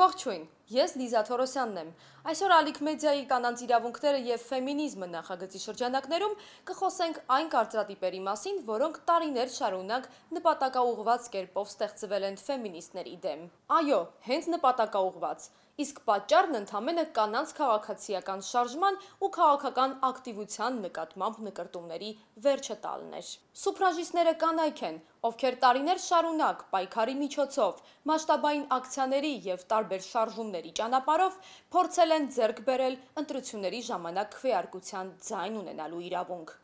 Ողջույն, ես Լիզա Թորոսյանն եմ։ Այսօր Ալիք մեդիայի կանանց իրավունքները եւ ֆեմինիզմը նախագծի շրջանակներում կխոսենք այն կարծրատիպերի մասին, որոնք տարիներ շարունակ նպատակաուղղված կերպով ստեղծվել են ֆեմինիստների դեմ։ Այո, հենց նպատակաուղղված։ Իսկ պատճառն ընդամենը կանանց քաղաքացիական շարժման ու քաղաքական ակտիվության նկատմամբ նկրտումների վերջը տալն էր։ Սուֆրաժիստները կանայք են, ովքեր տարիներ շարունակ պայքարի միջոցով, մասշտաբային ակցիաների եւ տարբեր շարժումների ճանապարհով փորձել են ձեռք բերել ընտրությունների ժամանակ քվեարկության ձայն ունենալու իրավունք։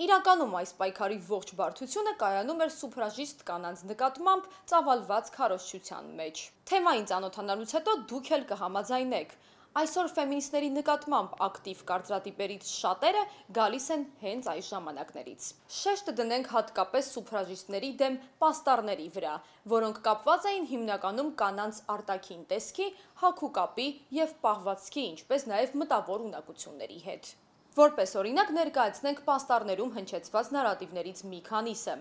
Իրականում այս պայքարի ողջ բարդությունը կայանում էր սուֆրաժիստ կանանց նկատմամբ ծավալված քարոզչության մեջ։ Թեմային ծանոթանալուց հետո դուք էլ կհամաձայնեք։ Այսօր ֆեմինիստների նկատմամբ ակտիվ կարծրատիպերից շատերը գալիս են հենց այս ժամանակներից։ Շեշտը դնենք հատկապես սուֆրաժիստների դեմ պաստառների վրա, որոնք կապված էին հիմնականում կանանց արտաքին տեսքի, հագուկապի եւ պահվածքի, ինչպես նաեւ մտավոր ունակությունների հետ։ Որպես օրինակ ներկայացնենք պաստառներում հնչեցված նարատիվներից մի քանիսը։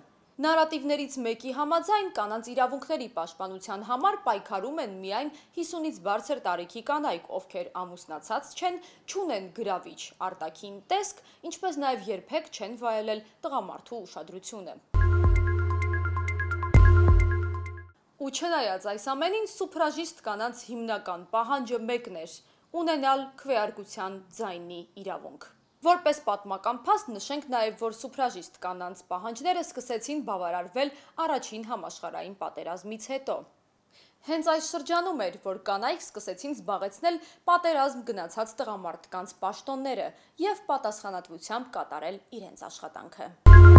Նարատիվներից մեկի համաձայն կանանց իրավունքների պաշտպանության համար պայքարում են միայն 50-ից բարձր տարիքի կանայք, ովքեր ամուսնացած չեն, չունեն գրավիչ արտաքին տեսք, ինչպես նաև երբեք չեն վայելել տղամարդու ուշադրությունը։ Ու չնայած այս ամենին, սուֆրաժիստ կանանց հիմնական պահանջը մեկն էր՝ ունենալ քվեարկության ձայնի իրավունք։ Որպես պատմական փաստ նշենք նաև, որ սուֆրաժիստ կանանց պահանջները սկսեցին բավարարվել առաջին համաշխարհային պատերազմից հետո։ Հենց այս շրջանում էր, որ կանայք սկսեցին զբաղեցնել պատերազմ գնացած տղամարդկանց պաշտոնները եւ պատասխանատվությամբ կատարել իրենց աշխատանքը։